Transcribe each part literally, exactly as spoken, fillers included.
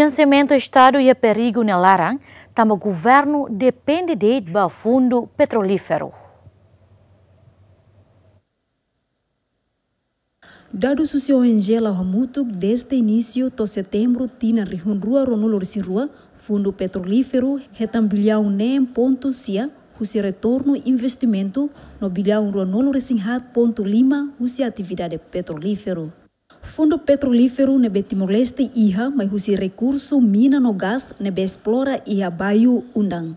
Finansiamentu Estadu iha perigu nia laran, tanba governu depende de'it ba fundu petrolíferu. Dadus husi O N G La'o Hamutuk, dezde inísiu to'o setembru tinan rihun rua ruanulu-resin-rua, fundu petrolíferu hetan biliaun neen pontu sia husi retornu investimentu no biliaun ruanulu-resin-haat pontu lima husi atividade petrolíferu. Fundu petrolíferu ne'ebé Timor-Leste iha mai husi rekursu mina no gás ne'ebé esplora iha Bayu Undang.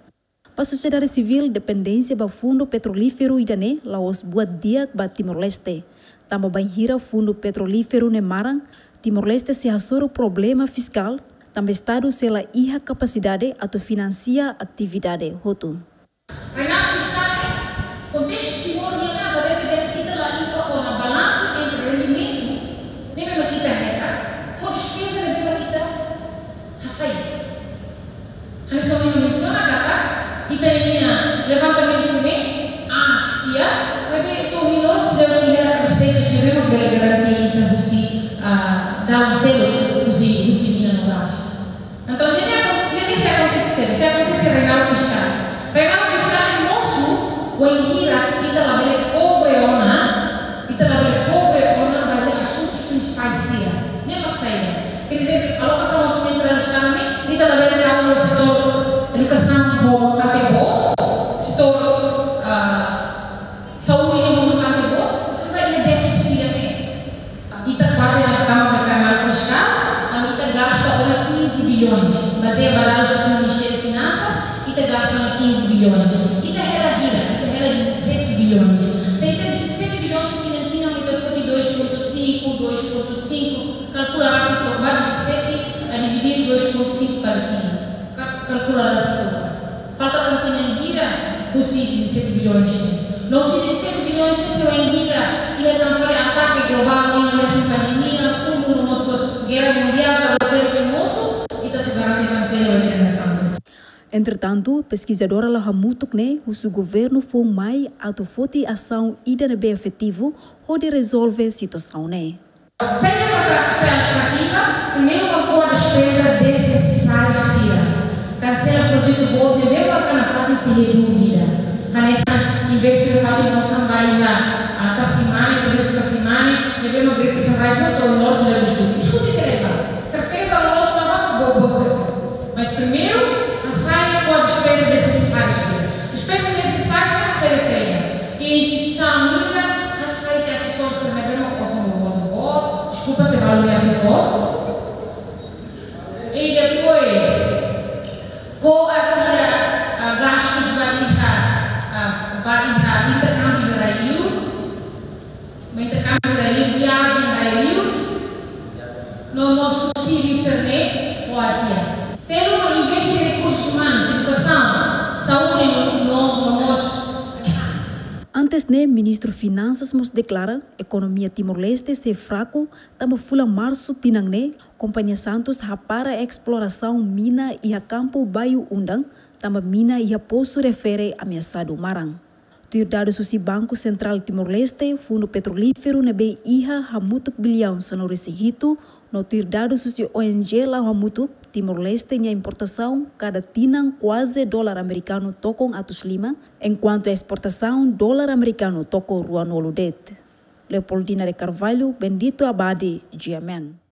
Ba sosiedade sivíl, dependénsia ba fundu petrolíferu ida-ne'e la'ós buat di'ak ba Timor-Leste. Tanba bainhira fundu petrolíferu ne'e maran, Timor-Leste sei hasoru problema fiskál, tanba Estadu sei la iha kapasidade atu finansia atividade hotu. Reinado fiskál, kontestu Timor nian, ita la iha ona balansu entre rendimentu ne'ebé mak ita hetan ho despeza ne'ebé mak ita hasai. Hanesan ohin mensiona katak, ita-nia levantamentu ne'e aas tiha, maibé to'o ohin loron seidauk iha reseitas ne'ebé mak bele garante ita husi, ah, dalan seluk husi, husi mina no gás. Entaun, ne'e akon-, ne'e sei akontese, sei akontese reinado fiskál. Reinado fiskál ne'e mosu bainhira ita labele kobre ona, ita labele kobre ona ba iha asuntus prinsipais sira. Ne'e mak saida? Quer dizer que alokasaun orçamentu jerál Estadu ne'e, ita labele tau ba setór edukasaun ho montante boot, setór, ah, saúde ho montante boot, tanba iha défisit ida-ne'e. Ita kuaze la tama ba reinado fiskál, tanba ita gasta ona quinze bilhões. Bazeia ba dadus husi Ministériu Finansas, ita gasta ona quinze bilhões. Ita hela hira, ita hela dezassete bilhões. Se ita dezassete bilhões, tinan-tinan ita foti dois ponto cinco, dois ponto cinco, kalkula rasik to'ok ba dezassete a dividir dois ponto cinco kada tinan. Ka-, kalkula rasik to'ok. Falta tan tinan hira husi dezassete bilhões. No husi dezassete bilhões ne'e sei wainhira iha tan fali atake globál nian, hanesan pandemia, fogu no mós gera mundiál, ka bazeia ne'e mosu, ita atu garante tan saida ba ita-nia nasaun. Entretantu, peskizadora La'o Hamutuk ne'e husu governu foun mai atu foti asaun ida ne'ebé efetivu hodi rezolve situasaun ne'e. Saida maka sai alternativa? Primeiru, mak ko'a despeza desnesesáriu sira. Kansela projetu boot ne'ebé maka nafatin sei reduz dívida. Hanesan investe nafatin osan ba iha, ah, Tasimane, projetu Tasimane, ne'ebé mak Greater Sunrise mós to'o ohin loron seidauk diskute. Diskute tiha lai ba. Serteza loloos ne'ebá boot, boot, serteza. Mas primeiru, hasai ko'a despeza desnesesáriu sira. Despeza nesesáriu sira mak saida, saida? Iha instituisaun ida, hasai tiha asesór sira ne'ebé mak osan boboot, deskulpa se balu nia asesór. I depois, ko'a tiha, ah, gastus ba iha, ah, ba iha interkámbiu rai-li'ur, ba interkámbiu rai-li'ur, viajen rai-li'ur, no mós subsídiu sira-ne'e ko'a tiha. Seluk mak investe rekursus umanus, edukasaun, saúde no, no, no mós. Antes ne'e, Ministru Finansas mós deklara ekonomia Timor-Leste sei fraku, tanba fulan Marsu tinan ne'e, Kompañia Santos hapara esplorasaun mina iha kampu Bayu Undang, tanba mina iha posu refere ameasadu maran. Tuir dadus husi Banku Sentrál Timor-Leste, fundu petrolíferu ne'ebé iha hamutuk biliaun sanulu-resin-hitu, no tuir dadus husi O N G La'o Hamutuk, Timor-Leste nia importasaun kada tinan kuaze dolar amerikanu tokon atus lima, enkuantu esportasaun dolar amerikanu tokon ruanulu de'it. Leopoldina de Carvalho, Bendito Abade, G M N.